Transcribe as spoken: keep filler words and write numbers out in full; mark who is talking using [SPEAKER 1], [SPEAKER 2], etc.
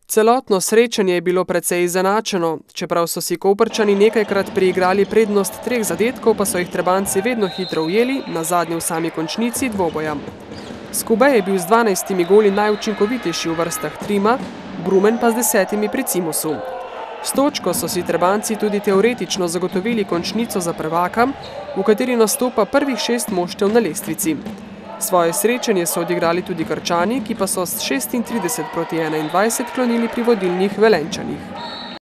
[SPEAKER 1] Celotno srečanje je bilo precej izenačeno, čeprav so si Koprčani nekajkrat priigrali prednost treh zadetkov, pa so jih Trebanjci vedno hitro ujeli, nazadnje v sami končnici dvoboja. Skube je bil z dvanajstimi goli najučinkovitejši v vrstah Trima, Brumen pa z desetimi pri Cimosu. S točko so si Trebanjci tudi teoretično zagotovili končnico za prvaka, v kateri nastopa prvih šest moštev na lestvici. Svoje srečanje so odigrali tudi Krčani, ki pa so s šestintrideset proti enaindvajset klonili pri vodilnih Velenjčanih.